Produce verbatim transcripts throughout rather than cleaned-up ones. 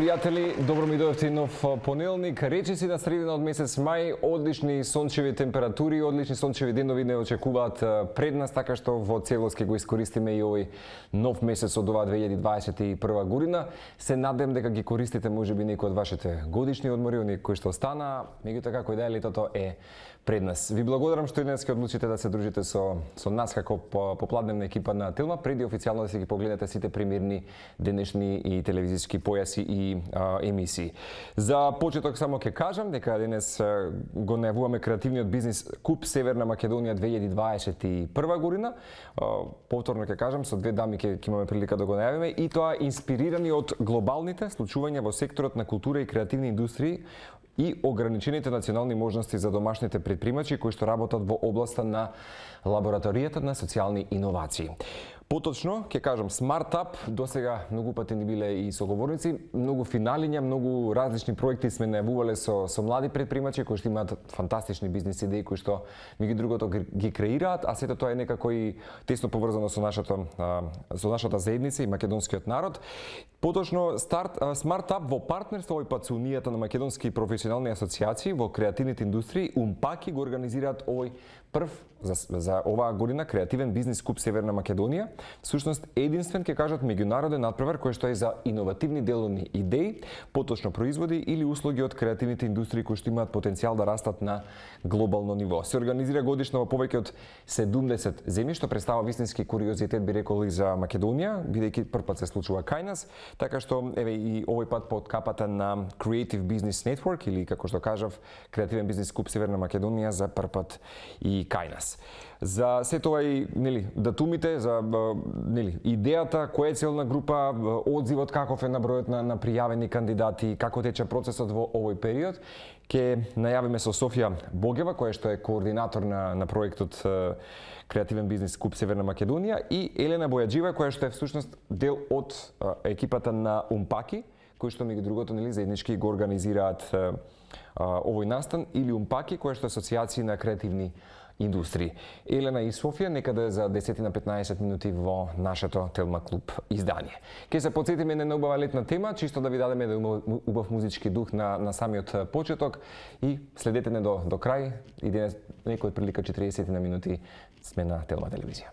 пријатели, добро ми дојдовте нов понеделник. Речиси на средина од месец мај, одлични сончеви температури, одлични сончеви денови не очекуваат пред нас, така што во целост ќе го искористиме и овој нов месец од оваа две илјади дваесет и прва година. Се надевам дека ги користите можеби некои од вашите годишни одмори, оние кои што остана, меѓутоа како и да е, летото е пред нас. Ви благодарам што и днес ќе одлучите да се дружите со со нас како попладневна екипа на Телма, преди официјално да си ги погледнете сите премиерни денешни и телевизиски појаси и а, емисии. За почеток само ќе кажам дека денес а, го најавуваме креативниот бизнис Куп Северна Македонија две илјади дваесет и прва година. А, повторно ќе кажам, со две дами ќе имаме прилика да го најавиме, и тоа инспирирани од глобалните случувања во секторот на култура и креативни индустрии и ограничените национални можности за домашните предпримачи кои што работат во областа на лабораторијата на социјални иновации. Поточно, ќе кажам, Смартап, досега многу пати ни биле и соговорници, многу финалиња, многу различни проекти сме најавувале со, со млади предпримачи кои што имаат фантастични бизнис идеи кои што меѓу другото ги креираат, а сето тоа е некако и тесно поврзано со нашата, со нашата заедница и македонскиот народ. Поточно, старт, Смартап во партнерство овој пат со Унијата на македонски професионални асоциации во креативните индустрии, Умпаки го организираат овој прв за, за оваа година креативен бизнис Куп Северна Македонија. Всушност единствен, ќе кажат, меѓународен натпревар кој што е за иновативни деловни идеи, поточно производи или услуги од креативните индустрии кои што имаат потенцијал да растат на глобално ниво. Се организира годишно во повеќе од седумдесет земји, што представа вистински куриозитет, би рекол, и за Македонија, бидејќи првпат се случува кај нас, така што еве и овој пат под капата на Creative Business Network, или како што кажав, креативен бизнис Куп Северна Македонија за првпат и кај нас. За сето ова и нели датумите, за нели идејата, која е целна група, одзивот каков е на бројот на, на пријавени кандидати, како тече процесот во овој период, ќе најавиме со Софија Богева, која што е координатор на, на проектот Креативен бизнис Куп Северна Македонија, и Елена Бојаджива, која што е всушност дел од екипата на Умпаки, кои што меѓу другото нели заеднички го организираат овој настан, или Умпаки, која што е асоцијација на креативни индустрии. Елена и Софија некаде за десет на петнаесет минути во нашето Телма клуб издание. Ке се потсетиме на убава летна тема, чисто да ви дадеме да убав музички дух на, на самиот почеток, и следете не до, до крај, и денес некој од прилика четиридесет на минути сме на Телма телевизија.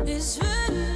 Извини.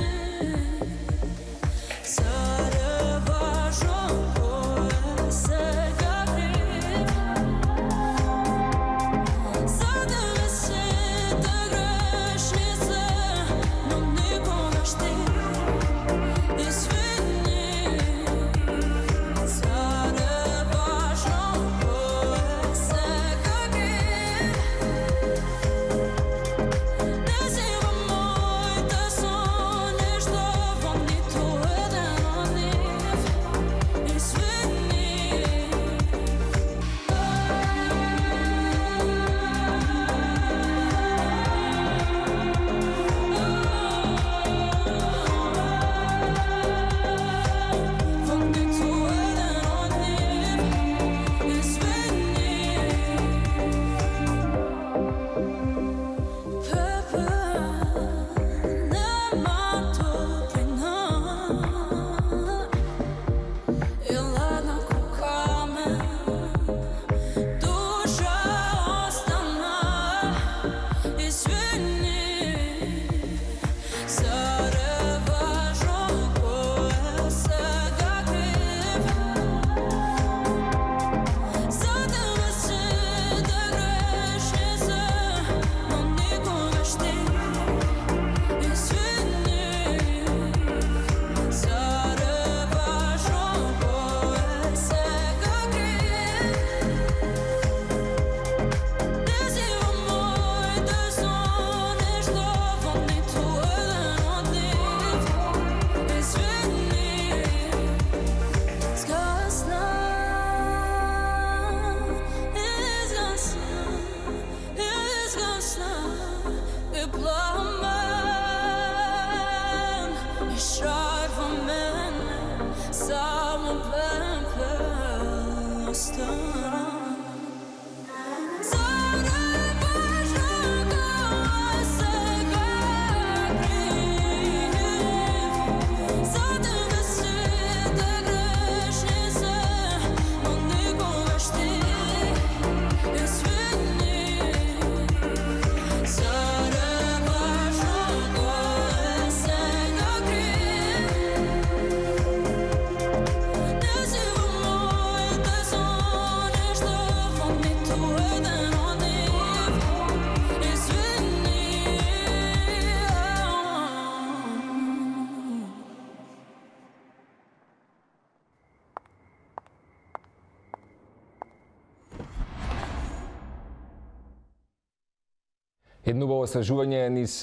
Едно убаво освежување низ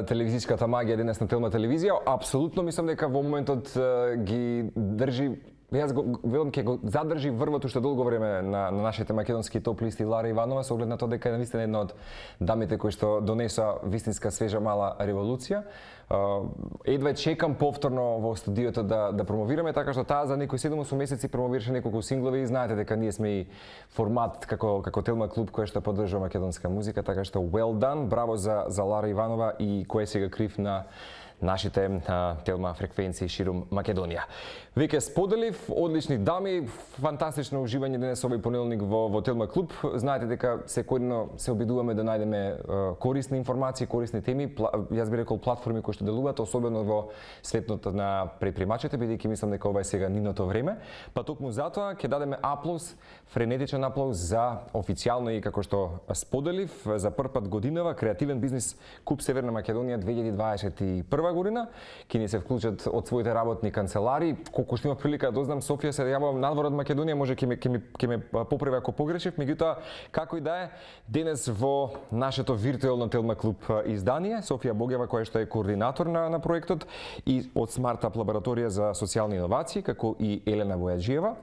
телевизиската магија денес на Телма телевизија. Апсолутно мислам дека во моментот ги држи, јас го велам ќе го задржи врвот уште долго време на, на нашите македонски топ листи Лара Иванова, со оглед на тоа дека е навистина една од дамите кои што донеса вистинска свежа мала револуција. Едва чекам повторно во студиото да да промовираме, така што таа за некои седум-осум месеци промовираше неколку синглови и знаете дека ние сме и формат како како Телма клуб кој што поддржува македонска музика, така што well done, браво за за Лара Иванова и кој сега крив на нашите а, Телма фреквенции ширум Македонија. Веќе споделив, одлични дами, фантастично уживање денес овој понеделник во, во Телма клуб. Знаете дека секојдневно се обидуваме да најдеме а, корисни информации, корисни теми, пла, јас би рекол платформи кои што делуваат, особено во светот на предпримачите, бидејќи мислам дека ова е сега нивното време. Па токму затоа ќе дадеме аплауз, френетичен аплауз за официјално и како што споделив за прв пат годинава креативен бизнис Куп Северна Македонија две илјади дваесет и прва година, ќе ни се вклучат од своите работни канцелари. Колку што имав прилика да дознам, Софија се јавувам надвор од Македонија, може ќе ме ќе ме ќе ме поправи ако погрешив, меѓутоа како и да е, денес во нашето виртуелно Телма клуб издание Софија Богева, која што е координатор на на проектот, и од Смартап лабораторија за социјални иновации, како и Елена Војаджиева,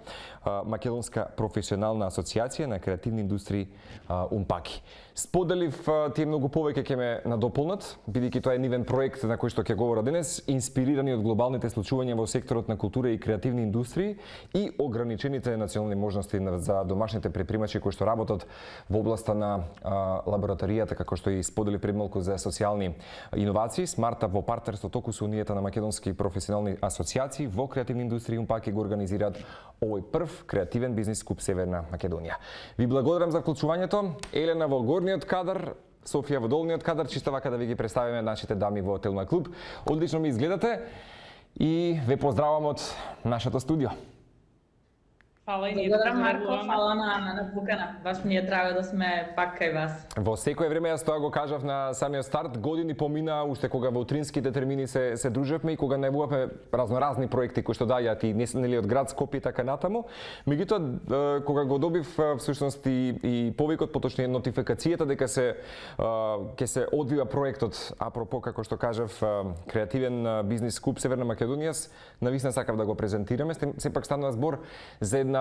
македонска професионална асоциација на креативни индустрии Унпаки. Споделив тие многу повеќе ќе ме надополнат, бидејќи тоа е нивен проект на кој што ќе говора денес, инспирирани од глобалните случувања во секторот на култура и креативни индустрии и ограничените национални можности за домашните предпримачи кои што работат во областа на а, лабораторијата, како што и сподели пред малку за социјални иновации. Смартап во партнерство току со Унијата на македонски професионални асоциации во креативни индустрии Унпаки го организираат овој прв креативен бизнис Куп Северна Македонија. Ви благодарам за вклучувањето. Елена во горниот кадар, Софија во долниот кадар, чисто вака да ви ги представиме нашите дами во Телма клуб. Одлично ми изгледате и ве поздравам од нашето студио. Фала и ние. Благодарам, Марко, фала на, на, на покана. Баш ми е драго да сме пак кај вас. Во секое време, јас тоа го кажав на самиот старт, години помина уште кога во утринските термини се, се дружевме и кога најавувавме разноразни проекти кои што дајат и нели од град Скопје така натаму. Меѓутоа, кога го добив всушност и, и повикот, поточнije нотификацијата дека се ќе се одвива проектот, апропо како што кажав, креативен бизнис Куп Северна Македонија, навистина сакав да го презентираме. Сепак станува збор за една,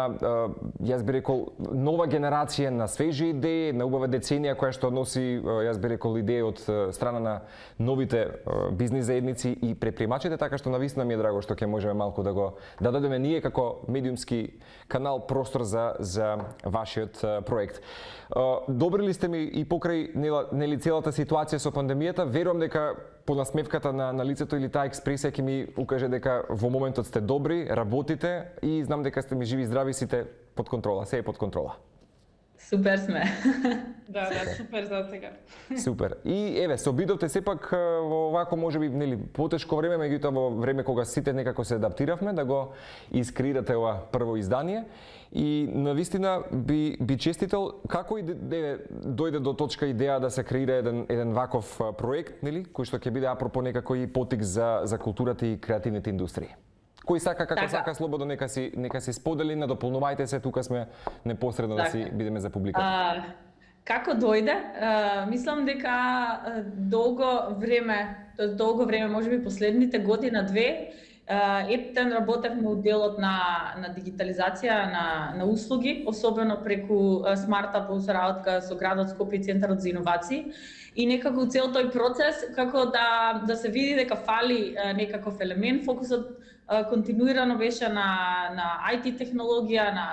јас би рекол, нова генерација на свежи идеи, на убава деценија која што носи, јас би рекол, идеи од страна на новите бизнис заедници и предпримачите, така што навистина ми е драго што ќе можеме малку да го да дадеме ние како медиумски канал простор за за вашиот проект. Добри ли сте ми и покрај нели целата ситуација со пандемијата, верувам дека по насмевката на, на лицето или таа експресија ќе ми укаже дека во моментот сте добри, работите и знам дека сте ми живи и здрави, сите под контрола, се е под контрола. Супер сме. Да, да, супер за сега. Супер. И еве, се обидовте сепак во вако можеби нели потешко време, меѓутоа во време кога сите некако се адаптиравме да го искреирате ова прво издание. И навистина би би честител како и де, дојде до точка идеја да се креира еден еден ваков проект, нели, кој што ќе биде апропо некако и потик за за културата и креативните индустрии. Кој сака како така. Сака слободно нека си нека си сподели, надополнувајте се, тука сме непосредно така. Да си бидеме за публиката. А, како дојде? А, мислам дека долго време, тоа долго време, можеби последните година две, Ептен работевме у делот на, на дигитализација на, на услуги, особено преку смартапов со работка со градот Скопје и Центарот за иновации. И некако цел тој процес, како да, да се види дека фали некаков елемент, фокусот континуирано беше на, на ай ти технологија, на,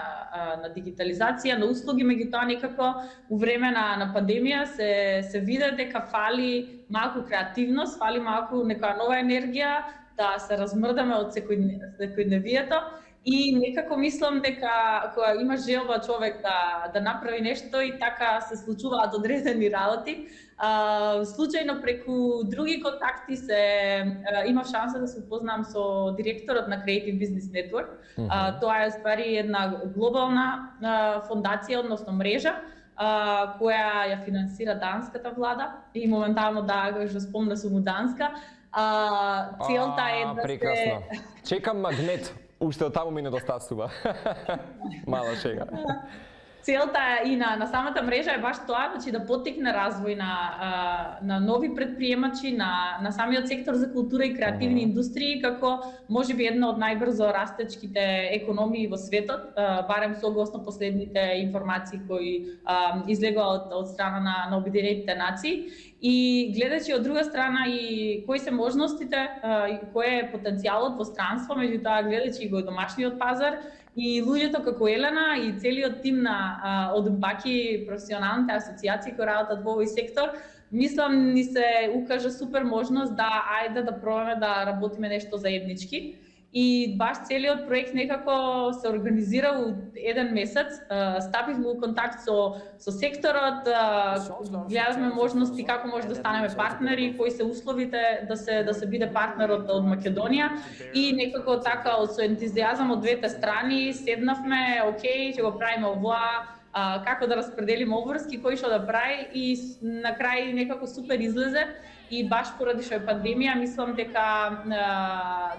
на дигитализација, на услуги, меѓутоа некако у време на, на пандемија се, се виде дека фали малку креативност, фали малку некоја нова енергија, да се размрдаме од секојдневието. И некако мислам дека кога има желба човек да, да направи нешто и така се случуваат одредени работи. Uh, случајно преку други контакти се uh, имав шанса да се упознам со директорот на Creative Business Network. Uh, uh, тоа е ствари една глобална uh, фондација, односно мрежа, uh, која ја финансира данската влада и моментално да го спомна сум у Данска. Uh, целта е да прекрасно. Се... Чекам магнет, уште од таму ми недостасува. Мала шега. Целта и на, на самата мрежа е баш тоа, значи да поттикне развој на, на нови предприемачи, на, на самиот сектор за култура и креативни uh-huh. индустрии, како можеби една од најбрзо растечките економии во светот, барем согласно последните информации кои излегоа од, од страна на, на Обединетите нации. И гледачи од друга страна и кои се можностите, и кој е потенцијалот во странство, меѓутоа гледачи го домашниот пазар, и луѓето како Елена и целиот тим на од Баки професионалните асоциации кои работат во овој сектор, мислам ни се укажа супер можност да ајде да пробаме да работиме нешто заеднички. И баш целиот проект некако се организира у еден месец. Стапивме у контакт со, со секторот, гледавме можности како може да станеме партнери, кои се условите да се да се биде партнерот од Македонија и некако така со ентузијазам од двете страни седнавме, окей, ќе го правиме овоа, како да распределиме обврски, кој што да прави и на крај некако супер излезе. И баш поради што е пандемија, мислам дека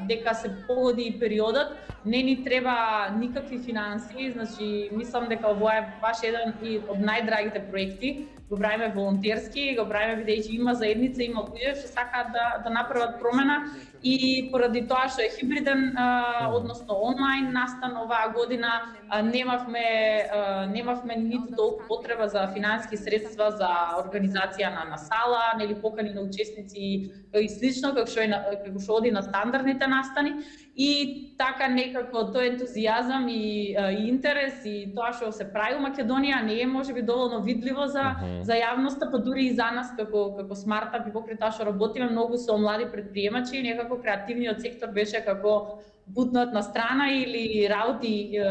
дека се погоди и периодот, не ни треба никакви финансии, значи мислам дека ова е баш еден од најдрагите проекти. Го правиме волонтерски, го правиме бидејќи има заедница, има луѓе што сакаат да да направат промена и поради тоа што е хибриден, а, односно онлайн настан оваа година, а, немавме а, немавме ниту толку потреба за финански средства за организација на на сала, нели покани на учесници и слично како што е како што оди на стандардните настани. И така некако тој ентузијазам и, и интерес и тоа што се прави во Македонија не е можеби доволно видливо за uh-huh. за јавноста, па дури и за нас како како смартап и покрај тоа што работиме многу со млади предприемачи, некако креативниот сектор беше како бутнат на страна или работи е,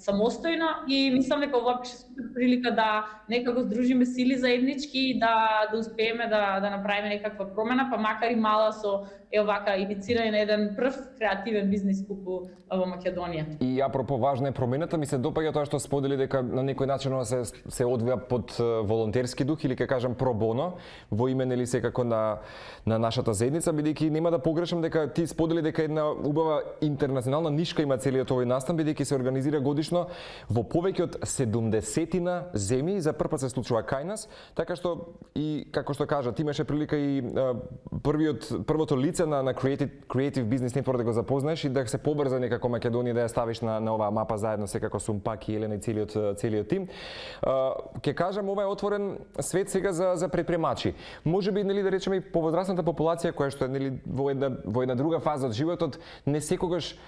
самостојно и мислам дека ова беше супер прилика да некако здружиме сили заеднички и да да успееме да да направиме некаква промена, па макар и мала со е овака иницирање на еден прв креативен бизнис куп во Македонија. И апропо важна е промената, ми се допаѓа тоа што сподели дека на некој начин се се одвија под волонтерски дух или ќе кажам про боно во име нели секако на на нашата заедница, бидејќи нема да погрешам дека ти сподели дека една убава интернационална нишка има целиот овој настан, бидејќи се организира годишно во повеќе од седумдесетина земји, за прв пат се случува кај нас, така што и како што кажа, ти имаше прилика и а, првиот првото лице на на Creative Creative Business Network да го запознаеш и да се побрза некако Македонија да ја ставиш на на оваа мапа заедно секако со Паки, Елена и целиот целиот тим. Ќе кажам, ова е отворен свет сега за за предприемачи. Можеби нели да речеме и повозрасната популација која што е нели во една во една друга фаза од животот не секогаш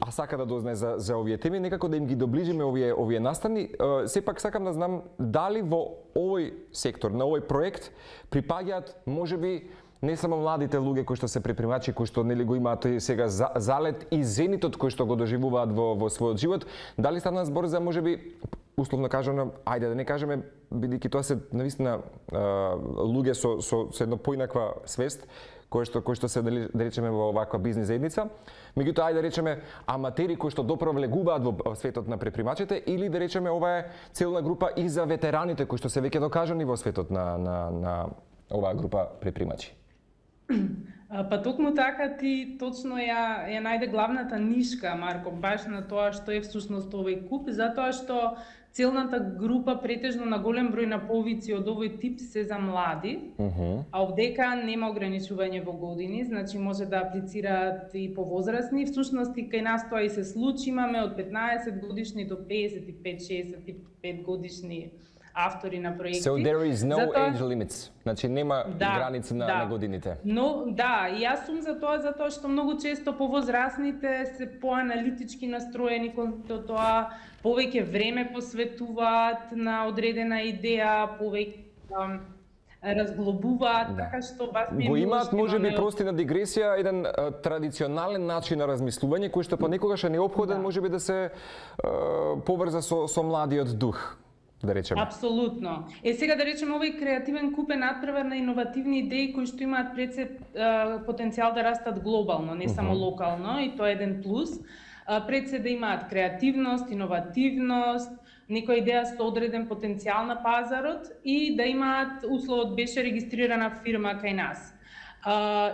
а сака да дознае за за овие теми, некако да им ги доближиме овие овие настани. Сепак сакам да знам дали во овој сектор, на овој проект припаѓаат можеби не само младите луѓе кои што се предприемачи, кои што нели го имаат сега залет и зенитот кој што го доживуваат во во својот живот, дали стана збор за можеби условно кажано, ајде да не кажеме, бидејќи тоа се навистина луѓе со со со едно поинаква свест, кои што кои што се да речеме во оваква бизнис заедница, меѓутоа ајде да речеме аматери кои што допро влегуваат во светот на предприемачите или да речеме ова е целна група и за ветераните кои што се веќе докажани во светот на на на оваа група предприемачи. Па токму така ти точно ја ја најде главната нишка, Марко, баш на тоа што е всушност овој куп, затоа што целната група претежно на голем број на повици од овој тип се за млади, uh-huh. а овдека нема ограничување во години, значи може да аплицираат и повозрасни. Всушност и кај нас тоа и се случи, имаме од петнаесет годишни до песет и пет шесет и пет годишни автори на проекти. So there is no затоа... age limits. Значи нема да, граници на, да. на годините. Но да, и јас сум за тоа затоа што многу често повозрасните се поаналитички настроени кон тоа, повеќе време посветуваат на одредена идеја, повеќе разглобуваат, да. Така што бас ми го имаат можеби прости на дигресија еден а, традиционален начин на размислување кој што понекогаш е неопходен, да. Можеби да се а, поврза со со младиот дух. Да речеме. Апсолутно. Е сега да речеме овој креативен куп е надпревар на иновативни идеи кои што имаат пред се потенцијал да растат глобално, не само uh-huh. локално, и тоа е еден плюс. Пред се да имаат креативност, иновативност, некоја идеја со одреден потенцијал на пазарот и да имаат, условот беше регистрирана фирма кај нас.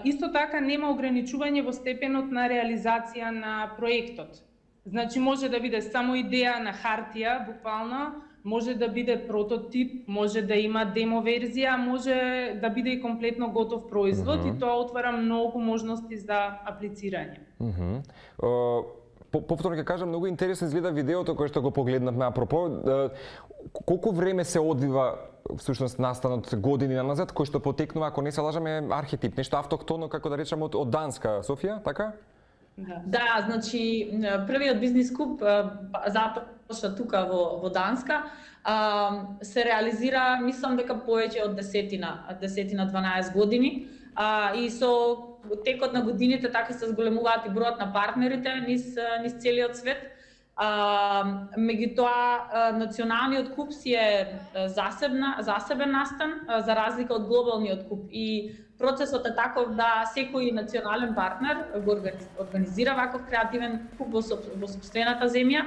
Исто така нема ограничување во степенот на реализација на проектот. Значи може да биде само идеја на хартија, буквално, може да биде прототип, може да има демо верзија, може да биде и комплетно готов производ uh-huh. и тоа отвара многу можности за аплицирање. Uh-huh. Uh, Повторно ќе кажам, многу интересно изгледа видеото кое што го погледнавме апропо. Uh, колку време се одвива всушност настанот години назад, кој што потекнува, ако не се лажаме, архетип, нешто автохтоно, како да речеме, од, од Данска, Софија, така? Да, да, значи првиот бизнис куп започна тука во во Данска, а, се реализира, мислам дека повеќе од десетина, десетина дванаесет години, а, и со текот на годините така се зголемуваат и бројот на партнерите низ низ целиот свет. А, меѓутоа националниот куп си е засебна засебен настан за разлика од глобалниот куп и процесот е таков да секој национален партнер го организира ваков креативен куп во сопствената земја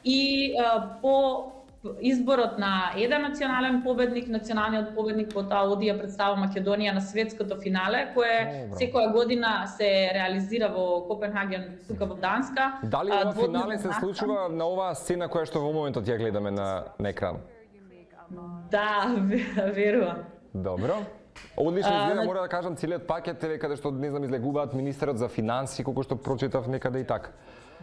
и а, по изборот на еден национален победник, националниот победник потоа оди ја представува Македонија на светското финале, кое Добро. Секоја година се реализира во Копенхаген, тука во Данска. Дали ова финале се случува на оваа сцена која што во моментот ја гледаме на, на екран? Да, верувам. Добро. Одлично изгледа, мора да кажам, целиот пакет е каде што не знам излегуваат министерот за финансии, колку што прочитав некаде и така.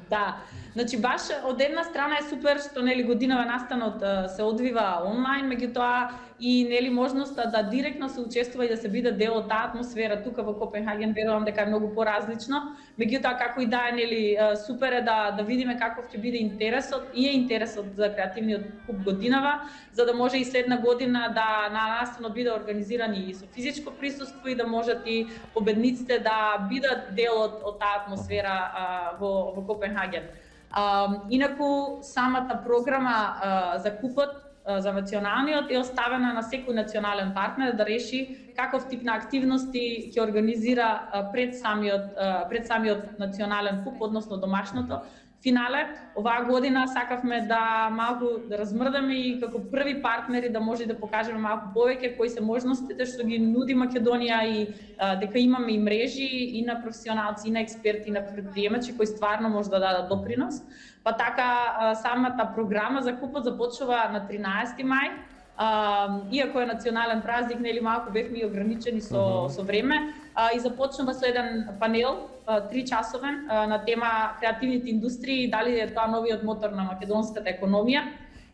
Да, значи баш од една страна е супер што нели годинава настанот се одвива онлайн, меѓутоа и нели можноста да директно се учествува и да се биде дел од таа атмосфера тука во Копенхаген, верувам дека е многу поразлично. Меѓутоа како и да е нели супер е да да видиме каков ќе биде интересот и е интересот за креативниот куп годинава, за да може и следна година да на настанот биде организиран и со физичко присуство и да можат и победниците да бидат дел од, од таа атмосфера а, во во Копенхаген. Uh, инаку самата програма uh, за купот uh, за националниот е оставена на секој национален партнер да реши каков тип на активности ќе организира uh, пред самиот uh, пред самиот национален куп, односно домашното финале. Оваа година сакавме да малку да размрдаме и како први партнери да може да покажеме малку повеќе кои се можностите што ги нуди Македонија и а, дека имаме и мрежи и на професионалци, и на експерти, и на предприемачи кои стварно може да дадат допринос. Па така а, самата програма за купот започнува на тринаесети мај. Uh, иако е национален празник, нели малку бевме и ограничени со, uh-huh. со време, uh, и започнува со еден панел, uh, три часовен, uh, на тема креативните индустрии, дали е тоа новиот мотор на македонската економија.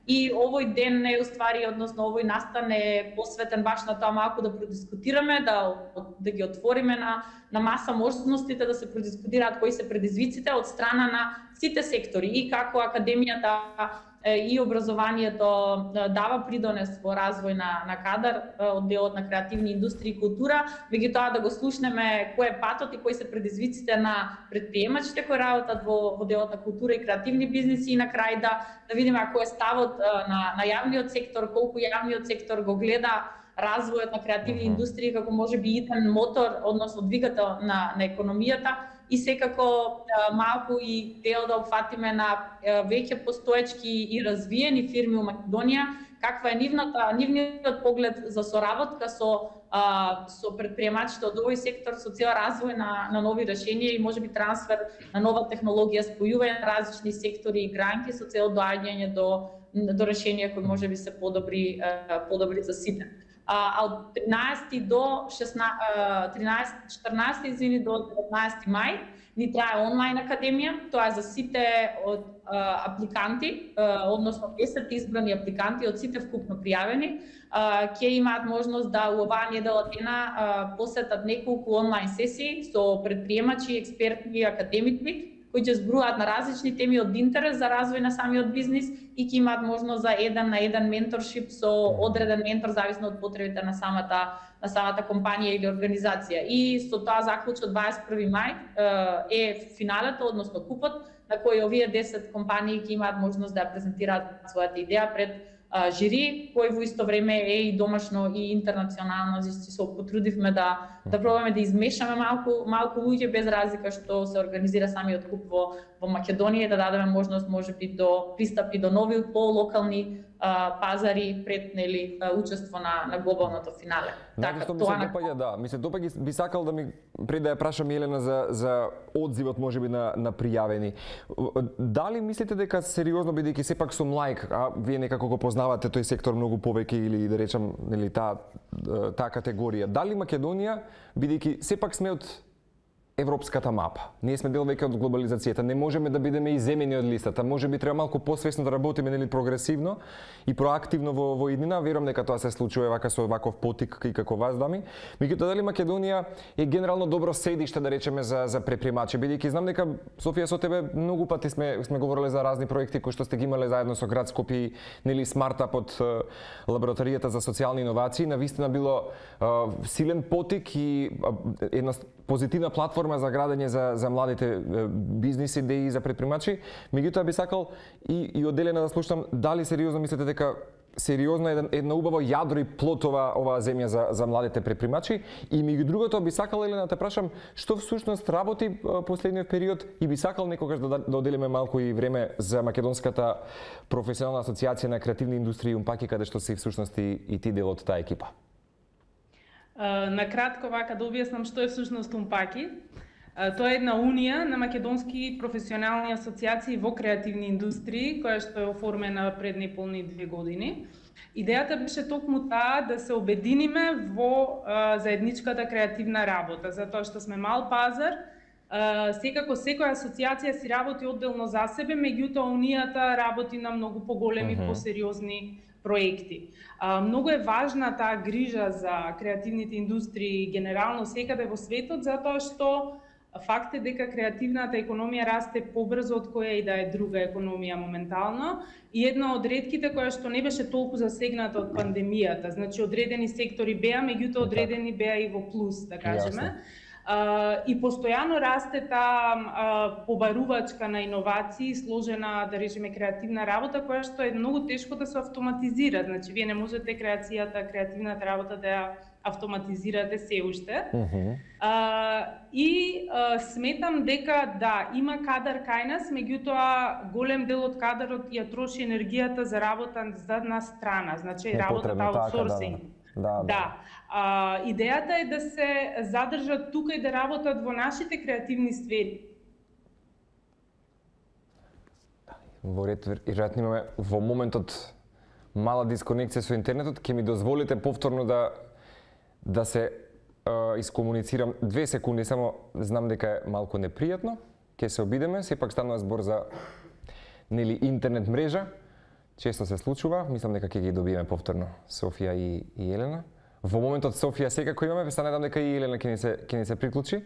И овој ден е уствари, односно овој настан е посветен баш на тоа малку да продискутираме, да, да ги отвориме на, на маса можностите да се продискутираат кои се предизвиците од страна на сите сектори и како академијата и образованието дава придонес во развој на, на кадар од делот на креативни индустрии и култура, меѓутоа да го слушнеме кој е патот и кои се предизвиците на предприемачите кои работат во, во делот на култура и креативни бизниси и на крај да, да видиме кој е ставот на, на јавниот сектор, колку јавниот сектор го гледа развојот на креативни индустрии како може би еден мотор, односно двигател на, на економијата, и секако малку и дел да опфатиме на веќе постоечки и развиени фирми у Македонија, каква е нивната, нивниот поглед за соработка со а, со предприемачите од овој сектор, со цел развој на, на нови решенија и можеби трансфер на нова технологија, спојување на различни сектори и гранки со цел доаѓање до до решение кој може би се подобри подобри за сите. А од тринаесети до шеснаесети, тринаесети, четрнаесети извини до деветнаесети мај ни трае онлайн академија, тоа е за сите од а, апликанти, а, односно десет избрани апликанти од сите вкупно пријавени, ќе имаат можност да у оваа недела дена посетат неколку онлайн сесии со предприемачи, експерти и академици, кои ќе зборуваат на различни теми од интерес за развој на самиот бизнис и ќе имаат можност за еден на еден менторшип со одреден ментор зависно од потребите на самата на самата компанија или организација. И со тоа заклучок дваесет и први мај е финалето, односно купот на кој овие десет компании ќе имаат можност да ја презентираат својата идеја пред жири, кој во исто време е и домашно и интернационално, зашто се потрудивме да да пробаме да измешаме малку малку луѓе без разлика што се организира самиот куп во во Македонија, да дадеме можност можеби до пристапи до нови по-локални пазари пред нели учество на на глобалното финале. Така тоа ми се допаѓа, да, ми се допаѓа, би сакал да ми пред да ја прашам Елена за за одзивот можеби на на пријавени. Дали мислите дека сериозно, бидејќи сепак сум лаик, а вие некако го познавате тој сектор многу повеќе или да речам нели таа таа категорија, дали Македонија, бидејќи сепак сме од европската мапа. Ние сме дел веќе од глобализацијата, не можеме да бидеме иземени од листата. Можеби треба малку посвесно да работиме, нели, прогресивно и проактивно во во иднина. Верувам дека тоа се случува вака со ваков потик и како вас, дами. Меѓутоа, дали Македонија е генерално добро седиште, да речеме, за за предприемачи, бидејќи знам дека Софија со тебе многу пати сме сме говореле за разни проекти кои што сте ги имале заедно со град Скопје, нели, Смартап од лабораторијата за социјални иновации. Навистина било а, силен потик и а, една позитивна платформа за градење за за младите бизнис идеи за предприемачи. Меѓутоа би сакал и и одделено да слушам дали сериозно мислите дека сериозно е една убаво јадро и плод ова оваа земја за за младите предприемачи и меѓу другото би сакал Елена да те прашам што всушност работи последниот период и би сакал некогаш да да одделиме малку и време за македонската професионална асоциација на креативни индустрии Умпаки, каде што си всушност и, и ти дел од таа екипа. Uh, на кратко вака да објаснам што е всушност Умпаки. Uh, тоа е една унија на македонски професионални асоциации во креативни индустрии, која што е оформена пред неполни две години. Идејата беше токму таа да се обединиме во uh, заедничката креативна работа, затоа што сме мал пазар. Uh, секако секоја асоциација си работи одделно за себе, меѓутоа унијата работи на многу поголеми, uh-huh. посериозни проекти. А, многу е важна таа грижа за креативните индустрии генерално секаде во светот, затоа што факт е дека креативната економија расте побрзо од која и да е друга економија моментално и една од ретките која што не беше толку засегната од пандемијата. Значи одредени сектори беа, меѓутоа одредени беа и во плюс, да кажеме. Uh, и постојано расте таа uh, побарувачка на иновации, сложена, да речеме, креативна работа, која што е многу тешко да се автоматизира. Значи, вие не можете креацијата, креативната работа да ја автоматизирате се уште. Uh-huh. Uh, и uh, сметам дека да, има кадар кај нас, меѓутоа голем дел од кадарот ја троши енергијата за работа за на страна, значи работата аутсорсинг. Да, да. да. А, идејата е да се задржат тука и да работат во нашите креативни сфери. Во ред, веројатно имаме во моментот мала дисконекција со интернетот, ќе ми дозволите повторно да да се uh, искомуницирам две секунди, само знам дека е малку непријатно. Ќе се обидеме, сепак станува збор за нели интернет мрежа. Често се случува, мислам дека ќе ги добиеме повторно Софија и, и Елена. Во моментот Софија секако имаме, се надам дека и Елена ќе ни се ќе ни се приклучи.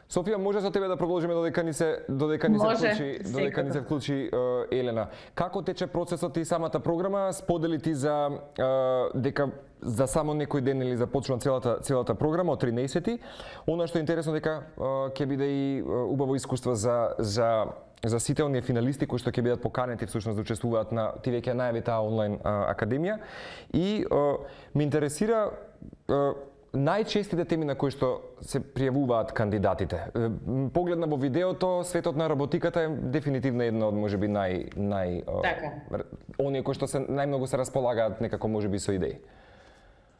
Софија, може со тебе да продолжиме додека ни се додека ни се вклучи, додека ни се вклучи uh, Елена. Како тече процесот и самата програма? Сподели ти за uh, дека за само некој ден или започна целата целата програма од тринаесети. Она што е интересно дека uh, ќе биде и uh, убаво искуство за за за сите оние финалисти кои што ќе бидат поканети всушност да учествуваат на ти веќе најави таа онлайн а, академија и а, ме интересира а, најчестите теми на кои што се пријавуваат кандидатите. Погледна во видеото, светот на роботиката е дефинитивно една од можеби нај нај така. оние кои што се најмногу се располагаат некако можеби со идеи.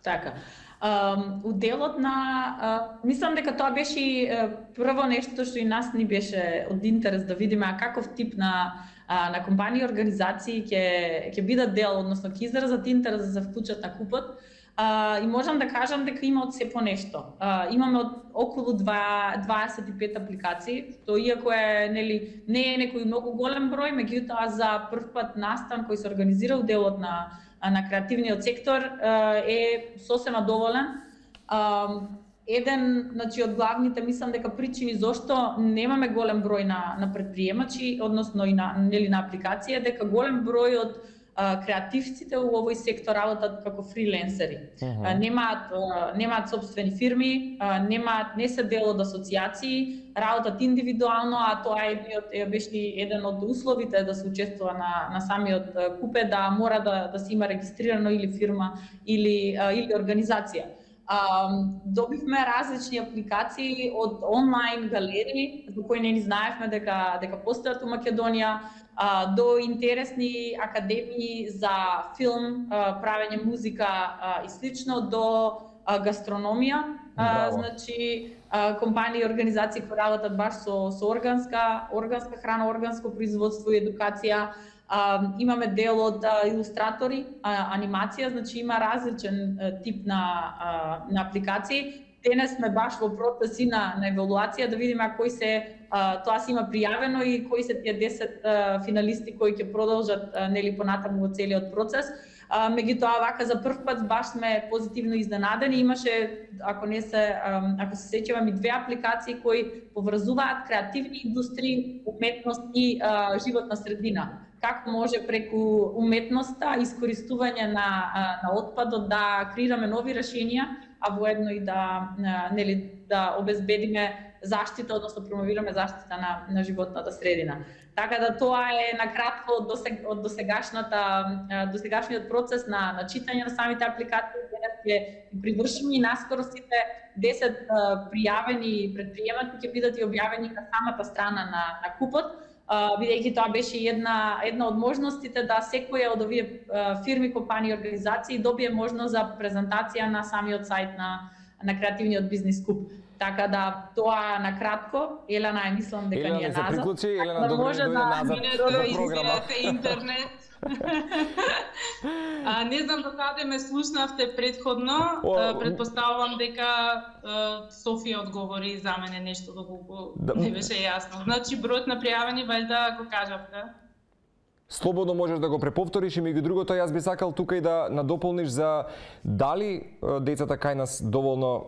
Така. Um, уделот на, uh, мислам дека тоа беше uh, прво нешто што и нас ни беше од интерес да видиме а каков тип на на компании и организации ќе ќе бидат дел, односно ќе изразат интерес да се вклучат на купот. Uh, и можам да кажам дека има од се по нешто. Uh, имаме од околу дваесет и пет апликации, што иако е, нели, не е некој многу голем број, меѓутоа за прв пат настан кој се организира у делот на на креативниот сектор uh, е сосема доволен. Uh, еден, значи, од главните, мислам дека причини зошто немаме голем број на на претприемачи, односно и на, нели, на апликација, дека голем број од креативците во овој сектор работат како фриленсери. Uh-huh. Немаат немаат сопствени фирми, немаат не се дел од асоциации, работат индивидуално, а тоа е еден беше еден од условите да се учествува на на самиот купе, да мора да да се има регистрирано или фирма или или организација. Uh, добивме различни апликации од онлайн галерии за кои не ни знаевме дека дека постојат у Македонија, uh, до интересни академии за филм, uh, правење музика uh, и слично, до uh, гастрономија. Uh, значи uh, компании и организации кои работат баш со со органска органска храна, органско производство и едукација. Uh, имаме дел од uh, илустратори, uh, анимација, значи има различен uh, тип на, uh, на апликации. Денес сме баш во процеси на, на евалуација да видиме кои се, uh, тоа се има пријавено и кои се тие десет uh, финалисти кои ќе продолжат uh, нели понатаму во целиот процес. Uh, меѓутоа вака за прв пат баш сме позитивно изненадени. Имаше, ако не се um, ако се сеќавам, и две апликации кои поврзуваат креативни индустрии, уметност и uh, животна средина. Како може преку уметноста, искористување на на отпадот да креираме нови решенија, а воедно и да нели да обезбедиме заштита, односно промовираме заштита на на животната средина. Така да тоа е накратко од досег, од досегашната досегашниот процес на на читање на самите апликации. Денес ќе привршиме и наскоро сите десет пријавени претприемачи ќе бидат и објавени на самата страна на на купот. Uh, бидејќи тоа беше една една од можностите да секоја од овие uh, фирми, компании и организации добие можност за презентација на самиот сајт на на креативниот бизнис куп. Така да тоа на кратко, Елена, е мислам дека Елена, ни е назад. назад. Приклучи, Елена, да добре може дојде да назад во програмата. Интернет. А, не знам докаде ме слушнавте предходно, О, предпоставувам дека Софија одговори за мене нешто доколку да, не беше јасно. Значи бројот на пријавени валјда го кажавте. Слободно можеш да го преповториш и меѓу другото јас би сакал тука и да надополниш за дали децата кај нас доволно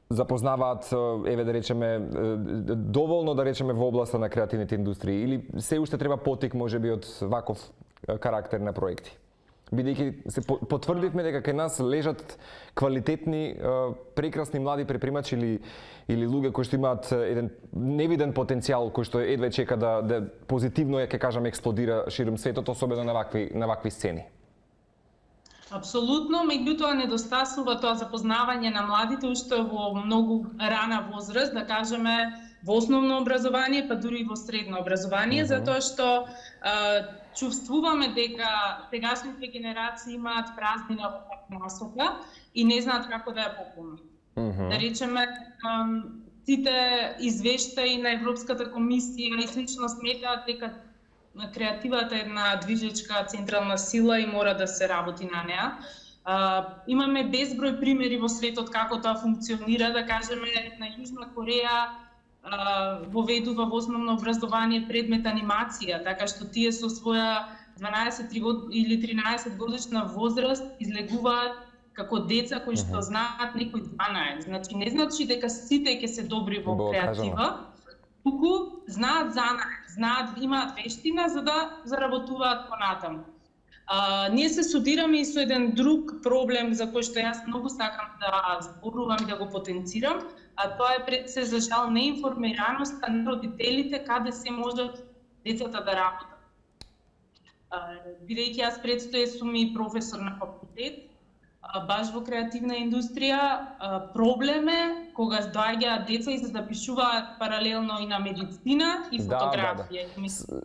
запознаваат, еве да речеме, доволно да речеме во областа на креативните индустрии или се уште треба потик можеби од ваков карактер на проекти. Бидејќи се потврдивме дека кај нас лежат квалитетни, прекрасни млади предприемачи или или луѓе кои што имаат еден невиден потенцијал кој што едве чека да да позитивно е, ќе кажам, експлодира широм светот, особено на вакви на вакви сцени. Апсолутно, меѓутоа недостасува тоа запознавање на младите уште во многу рана возраст, да кажеме во основно образование, па дури и во средно образование, uh-huh. затоа што а, чувствуваме дека сегашните генерации имаат празнина во насока и не знаат како да ја пополнат. Uh-huh. Да речеме, сите извештаи на Европската комисија и слично сметаат дека креативата е една движечка централна сила и мора да се работи на неа. Uh, имаме безброј примери во светот како тоа функционира, да кажеме на Јужна Кореја uh, воведува во основно образование предмет анимација, така што тие со своја дванаесет или тринаесет годишна возраст излегуваат како деца кои што знаат некои дванаесет. Значи не значи дека сите ќе се добри во Бо, креатива, туку знаат занае, знаат, имаат вештина за да заработуваат понатаму. Uh, ние се судираме и со еден друг проблем за кој што јас многу сакам да зборувам и да го потенцирам, а тоа е пред се за жал неинформираноста на родителите каде се можат децата да работат. Uh, бидејќи јас предстои сум и професор на факултет, баш во креативна индустрија. Проблем е кога доаѓаат деца и се запишуваат паралелно и на медицина и фотографија.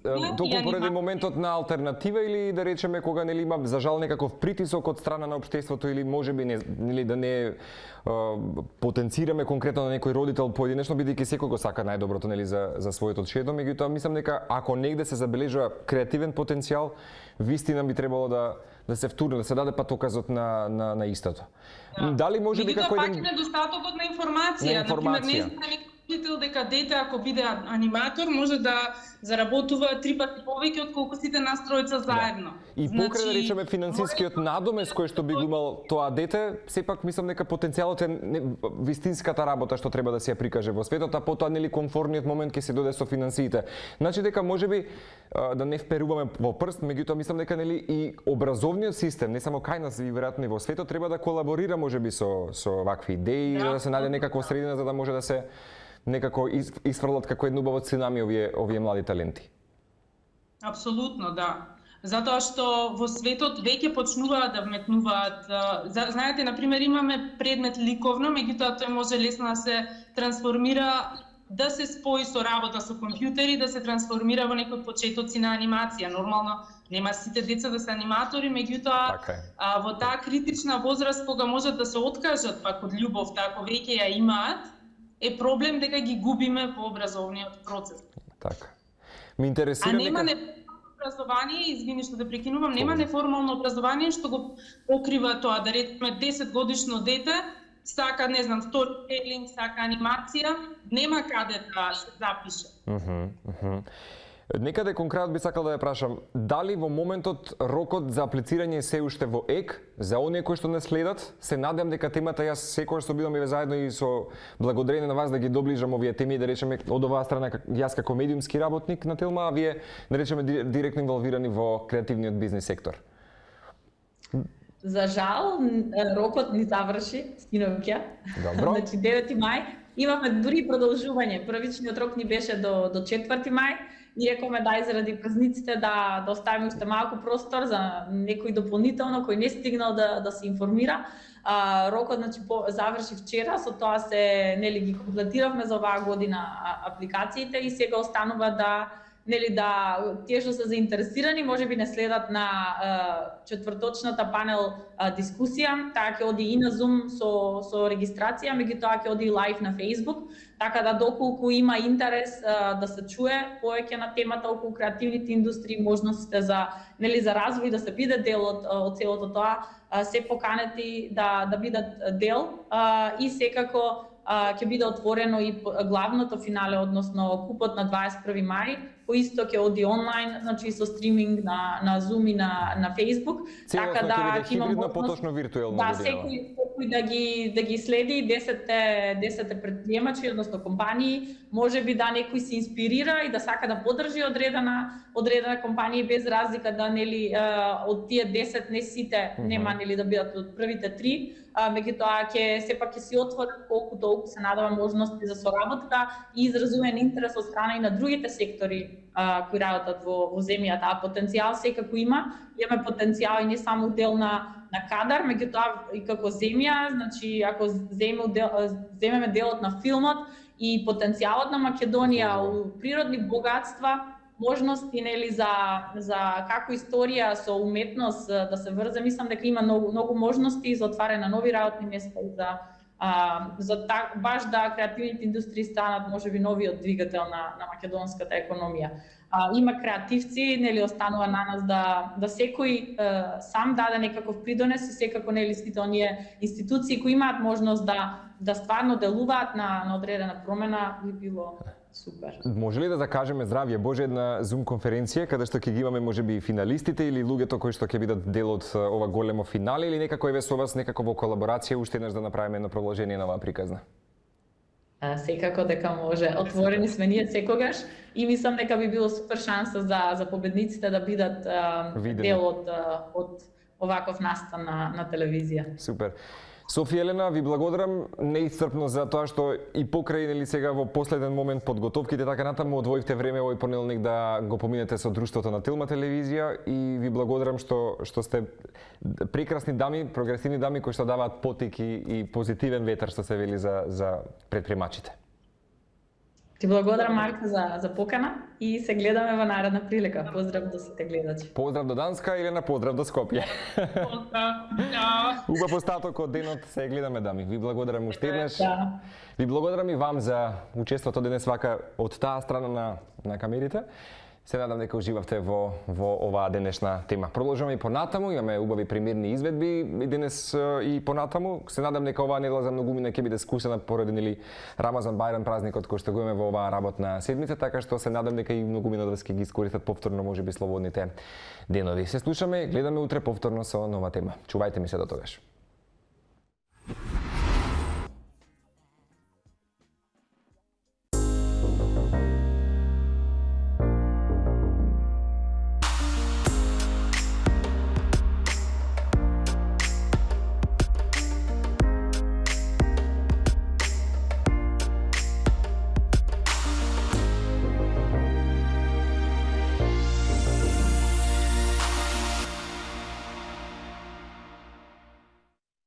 Да, да. Токму поради моментот на алтернатива или да речеме кога нели има за жал некаков притисок од страна на општеството или можеби не нели да не потенцираме конкретно на некој родител поединечно, бидејќи секој го сака најдоброто нели за за своето чедо, меѓутоа мислам дека ако негде се забележува креативен потенцијал, вистина би требало да да се втурне, да се даде патоказот на на на истото. Да. Дали може би како еден недостатокот на информација, на информација. Например, не знам родител дека дете ако биде аниматор може да заработува три пати повеќе од колку сите нас тројца заедно. Да. И покрај да речеме финансискиот надомес кој што би го имал тоа дете, сепак мислам дека потенцијалот е не, вистинската работа што треба да се ја прикаже во светот, а потоа нели комфорниот момент ќе се доде со финансиите. Значи дека можеби да не вперуваме во прст, меѓутоа мислам дека нели и образовниот систем, не само кај нас и веројатно и во светот треба да колаборира можеби со со вакви идеи, да, да се најде некаква средина за да може да се некако исфрлат како едно убаво цунами овие овие млади таленти. Апсолутно, да. Затоа што во светот веќе почнуваат да вметнуваат, знаете, на пример имаме предмет ликовно, меѓутоа тој може лесно да се трансформира, да се спои со работа со компјутери, да се трансформира во некои почетоци на анимација. Нормално нема сите деца да се аниматори, меѓутоа така а, во таа критична возраст кога можат да се откажат пак од љубовта, ако веќе ја имаат, е проблем дека ги губиме во образовниот процес. Така. Ми интересира а нема нека... неформално образование, извини што да прекинувам, нема неформално образование што го покрива тоа, да речеме десет годишно дете сака, не знам, сторителинг, сака анимација, нема каде да се запише. Мхм, мхм. Некаде конкретно би сакал да ја прашам, дали во моментот рокот за аплицирање се уште во ек за оние кои што не следат? Се надевам дека темата јас секогаш што бидам и заедно и со благодарение на вас да ги доближам овие теми, да речеме од оваа страна јас како медиумски работник на Телма, а вие да речеме директно инволвирани во креативниот бизнис сектор. За жал, рокот ни заврши синоќа. Добро. Значи девети мај имавме дури продолжување. Првичниот рок ни беше до до четврти мај. Ни рековме дај заради празниците да да оставиме уште малку простор за некој дополнително кој не стигнал да да се информира. А, рокот значи по, заврши вчера, со тоа се нели ги комплетиравме за оваа година апликациите и сега останува да нели да тие што се заинтересирани можеби не следат на е, четврточната панел е, дискусија, таа ќе оди и на Zoom со со регистрација, меѓутоа ќе оди и лайв на Facebook, така да доколку има интерес е, да се чуе повеќе на темата околу креативните индустрии, можностите за нели за развој, да се биде дел од од целото тоа, е, се поканети да да бидат дел е, и секако ќе биде отворено и главното финале, односно купот на дваесет и први мај, кој исто ќе оди онлайн, значи со стриминг на на Zoom и на на Facebook, целосно така да ќе има можност поточно виртуелно да година. секој секој да ги да ги следи десетте десетте претприемачи, односно компании, можеби да некој се инспирира и да сака да поддржи одредена одредена компанија без разлика да нели од тие десет не сите нема нели да бидат од првите три, меѓутоа ќе сепак ќе си отворат колку толку се надава можности за соработка и изразувен интерес од страна и на другите сектори а, кои работат во, во земјата, а потенцијал секако има. Имаме потенцијал и не само дел на на кадар, меѓутоа и како земја, значи ако земеме дел, земеме делот на филмот и потенцијалот на Македонија у природни богатства, можности нели за за како историја со уметност да се врзе, мислам дека има многу многу можности за отварање на нови работни места и за а, за так, баш да креативните индустрии станат можеби новиот двигател на на македонската економија. А, има креативци, нели останува на нас да да секој е, сам даде некаков придонес и секако нели сите оние институции кои имаат можност да да стварно делуваат на на одредена промена би било супер. Може ли да закажеме здравје Боже една Zoom конференција каде што ќе ги имаме можеби финалистите или луѓето кои што ќе бидат дел од ова големо финале или некако еве со вас некако во колаборација уште еднаш да направиме едно продолжение на оваа приказна? А, секако дека може. Отворени сме ние секогаш и мислам дека би било супер шанса за за победниците да бидат а, дел од од оваков настан на на телевизија. Супер. Софија Елена, ви благодарам неисцрпно за тоа што и покрај нели сега во последен момент подготовките така натаму одвоивте време овој понеделник да го поминете со друштвото на Телма телевизија и ви благодарам што што сте прекрасни дами, прогресивни дами кои што даваат потик и, и позитивен ветер што се вели за за предприемачите. Ти благодарам, Марко, за, за покана и се гледаме во наредна прилика. Поздрав до сите гледачи. Поздрав до Данска, Елена, поздрав до Скопје. Поздрав. Убав остаток од денот, се гледаме, дами. Ви благодарам уште еднаш. Да. Ви благодарам и вам за учеството денес вака од таа страна на, на камерите. Се надам дека уживавте во, во оваа денешна тема. Продолжуваме и понатаму, имаме убави примерни изведби и денес и понатаму. Се надам дека оваа недела за многумина ќе биде скусена поради нели Рамазан Бајрам празникот кој што го имаме во оваа работна седмица, така што се надам дека и многумина од вас ќе ги искористат повторно можеби слободните денови. Се слушаме, гледаме утре повторно со нова тема. Чувајте ми се до тогаш.